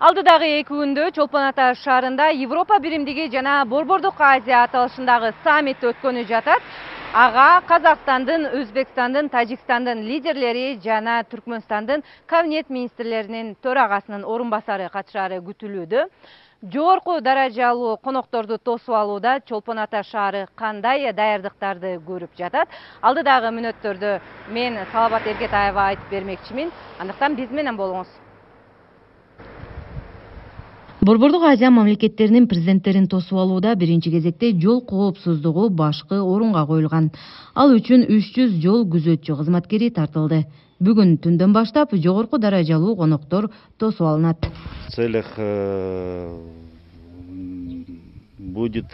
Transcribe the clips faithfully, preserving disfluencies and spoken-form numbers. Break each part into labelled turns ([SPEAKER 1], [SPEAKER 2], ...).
[SPEAKER 1] Алдыдагы эки күндө Чолпон Ата шаарында Европа биримдиги жана Борбордук Азия аталышындагы саммит өткөнү жатат. Ага Казакстандын, Өзбекстандын, Тажикстандын лидерлери жана Түркмөнстандын кабинет министрлеринин төрагасынын орун басары катышаары күтүлүүдө. Жогорку даражалуу конокторду тосуп алууда Чолпон Ата шаары кандай даярдыктарды көрүп жатат? Алдыдагы мүнөттөрдө мен Салават Эркетаева айтып бермекчимин. Андыктан биз менен болуңуз. Борбордук Азия мамлекеттеринин президенттерин тосуп алууда биринчи кезекте жол коопсуздугу башкы орунга коюлган. Ал үчүн үч жүз жол күзөтчү кызматкери тартылды. Бүгүн түндөн баштап жогорку даражалуу коноктор тосуп алынат.
[SPEAKER 2] В целях будет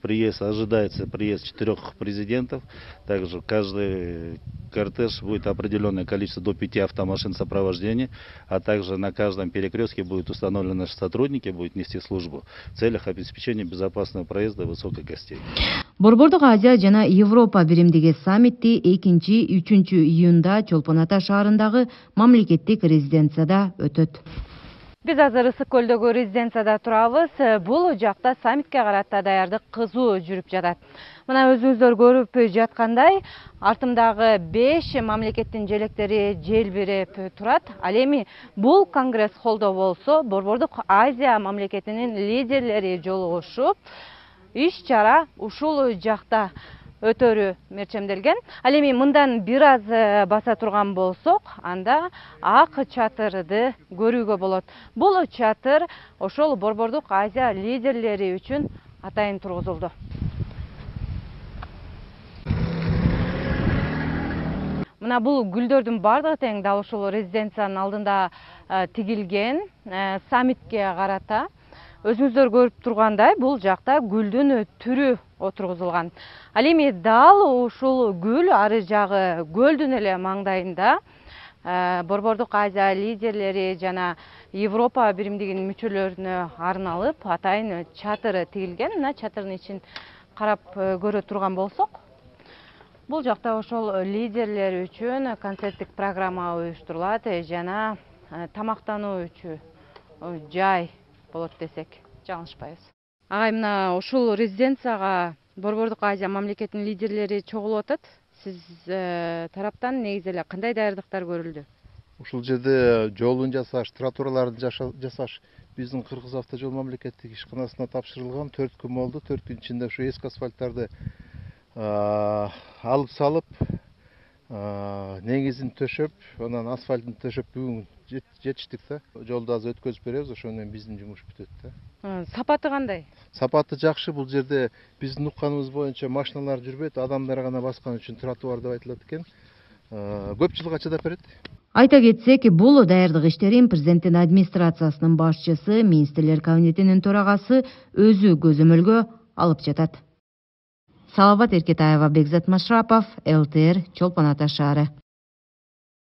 [SPEAKER 2] приезд, ожидается приезд четырех президентов. Также каждый кортеж будет определенное количество до пяти автомашин сопровождения, а также на каждом перекрестке будут установлены наши сотрудники, будут нести службу в целях обеспечения безопасного проезда высоких гостей.
[SPEAKER 1] Борбордук Азия жана Европа биримдиги саммити экинчи үчүнчү июнда Чолпон Ата шаарындагы мамлекеттик резиденцияда өтөт. Биз азыр Ысык көлдөгү резиденцияда турабыз. Бул жакта саммитке карата даярдык кызуу жүрүп жатат. Мына өзүңүздөр көрүп жаткандай, артымдагы беш мамлекеттин желектери желбиреп турат. Ал эми бул конгресс холдо болсо, Борбордук Азия мамлекетинин лидерлери жолугушуп, иш-чара ушул жакта өтөрү мерчемделген. Ал эми мындан бир аз баса турган болсок, анда ак чатырды көрүүгө болот. Бул чатыр ошол Борбордук Азия лидерлери үчүн атайын тургузулду. Мына бул гүлдөрдүн бардыгы тең дал ушул резиденциянын алдында тигилген. Саммитке карата өзүңүздөр көрүп тургандай, бул жакта гүлдүн түрү отургузулган. Ал эми дал ушул гүл ары жагы көлдүн эле маңдайында Борбордук Азия лидерлери жана Европа биримдигинин мүчөлөрүнө арналып атайын чатыр тигилген. Мына чатырдын ичин карап көрө турган болсок, бул жакта ошол лидерлер үчүн концерттик программа уюштурулат жана тамактануу үчүн жай болот десек жаңылышпайбыз. Агай, мына ушул резиденцияга Борбордук Азия мамлекетинин лидерлери чогулуп атат. Сиз тараптан негизи эле кандай даярдыктар көрүлдү?
[SPEAKER 3] Ушул жерде жолун жасаш, тротуарларды жасаш биздин Кыргыз автожол мамлекеттик ишканасына тапшырылган. төрт күн болду. төрт күн ичинде ушу эски асфальттарды алып салып, негизин төшөп, анан асфальтын төшөп бүгүн жетиштик да. Жолду азыр өткөзүп беребиз, ошон менен биздин жумуш бүтөт да.
[SPEAKER 1] Сапаты кандай?
[SPEAKER 3] Сапаты жакшы. Бул жерде биздин укканыбыз боюнча машиналар жүрбөйт, адамдар гана баскан үчүн тротуар деп айтылат экен. Көп жылга чыдап берет.
[SPEAKER 1] Айта кетсек, бул даярдык иштерин президенттин администрациясынын башчысы, министрлер кабинетинин төрагасы өзү көзөмөлгө алып жатат. Салават Эркетаева, Бекзат Машрапов, эл тэ эр, Чолпон Ата шаары.